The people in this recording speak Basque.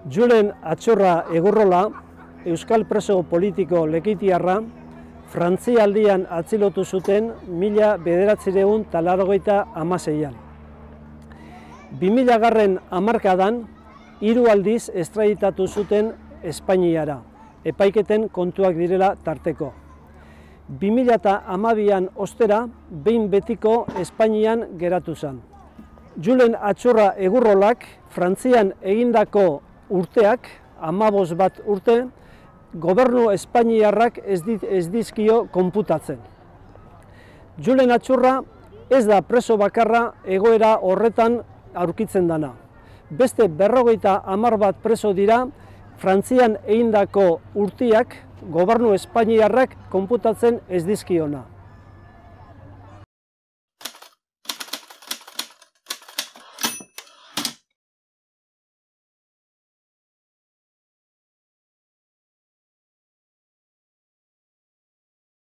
Julen Atxorra Egurrola, euskal preso politiko lekitiarra, Frantzialdian atzilotu zuten 1986an. 2000 hamarkadan, 3 aldiz estraditatu zuten Espainiara, epaiketen kontuak direla tarteko. 2012an ostera, behin betiko Espainian geratu zen. Julen Atxorra Egurrolak Frantzian egindako urteak, 15 urte, gobernu espainiarrak ez dizkio konputatzen. Julen Atxorra ez da preso bakarra egoera horretan aurkitzen dana. Beste 50 preso dira Frantzian egindako urteak gobernu espainiarrak konputatzen ez dizkiona.